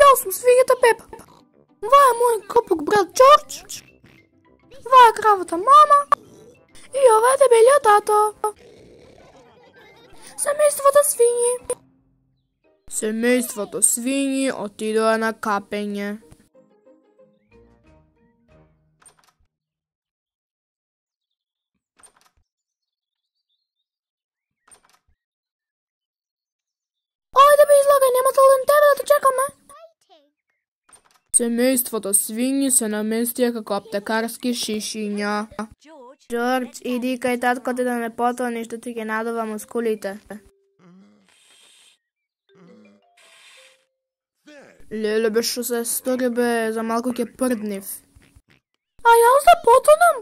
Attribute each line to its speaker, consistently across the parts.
Speaker 1: Јас сум свињата Пепа. Ова е мој копук брат Џорџ. Ова е кравата мама. И ова е дебелиот тато. Семејството свињи. Семејството свињи отидоа на капење. Ајде бе излагај, нема целден тебе да те чекаме. Семејството свињи се наместија како аптекарски шишиња. Џорџ, иди кај татко ти да ме потони што ти ги надува мускулите. Леле бе, што се стори бе, за малку ќе прднив. А јас да потонам?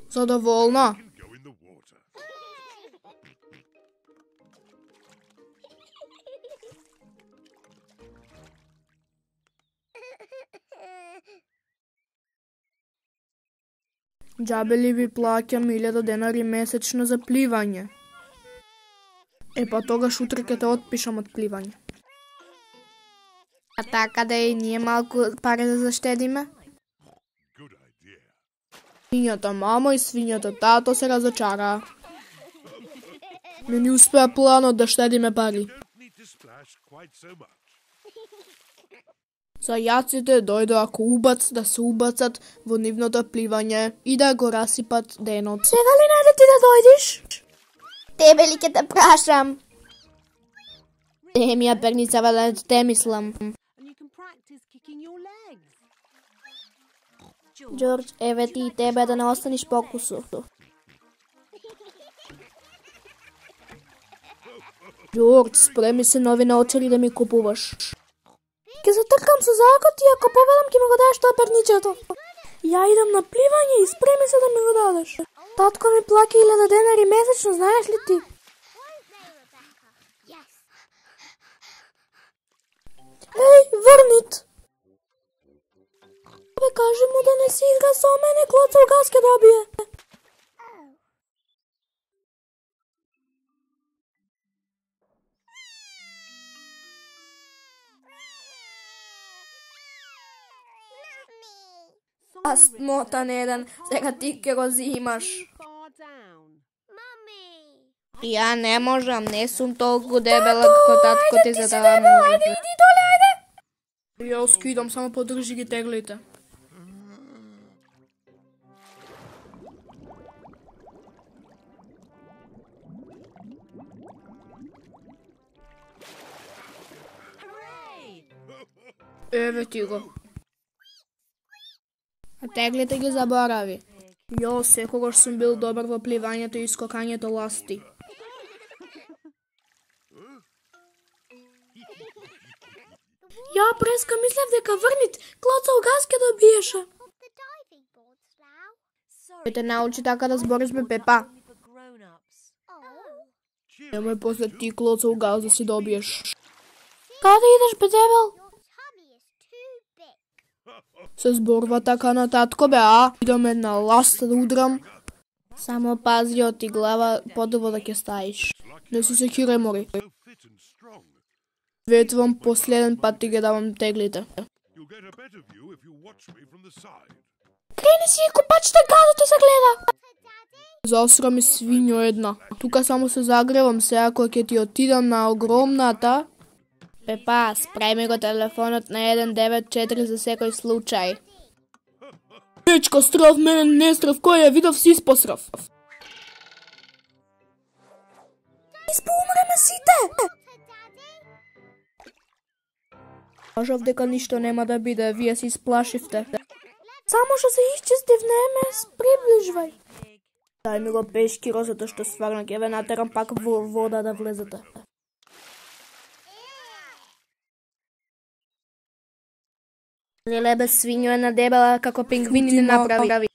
Speaker 1: Задоволна? Џабе ли ви плаќам 1000 денари месечно за пливање? Па тогаш утре ќе те отпишам од пливање. А така да и ние малку пари да заштедиме? Свињата мамо и свињата тато се разочараа. Не ни успеа планот да штедиме пари. Зајаците дојдоа ко убац да се убацат во нивното пливање и да го расипат денот. Сега ли најде ти да дојдеш? Тебе ли ќе те прашам? Ми ја перницава да те мислам. Џорџ, еве ти и тебе да не останиш покусо. Џорџ, спреми се нови наочари да ми купуваш. Ке затркам со закот и ако поведам ке ми го дадеш тоа перничето. Ја идам на пливање и спреми се да ми го дадеш. Татко ми плаќа 1000 денари месечно, знаеш ли ти? Еј, врнит! Бе, кажи му да не си игра со мене, клоцал газ ке добие. А смотан еден, сега ти ке го зимаш. Ја не можам, не сум толку дебела како татко ти за да може. Ајде, иди доле, ајде! Ја скидам, само подржи ги теглите. Еве ти го. А теглите ги заборави. Јо, секогаш сум бил добар во пливањето и скокањето ласти. Ја преска мислев дека врнит, клоцал газ ке добиеше. Ке те научи така да збориш бе Пепа. Немој после ти клоцал газ да си добиеш. Каде идеш бе дебел? Се зборува така на татко бе, а? Идам една ласта да удрам. Само пази од ти глава подобро да ќе стаиш. Не се секирај, мори. Ветвам, последен пат ти ги давам теглите. Крени си, копачите гадото се гледа. Засра ми свињо една. Тука само се загревам, сега кој ќе ти отидам на огромната. Пепа, спреми го телефонот на 194 за секој случај. Печка, страв, мене не страв, кој ја видов си испосрав. Испоумреме сите! Кажав дека ништо нема да биде, вие се исплашивте. Само што се исчистив, не ме приближвај. Дај ми го пешкиро, затоа што стварно ќе ве натерам пак во вода да влезете. Леле бе, свињо една дебела како пингвини направи.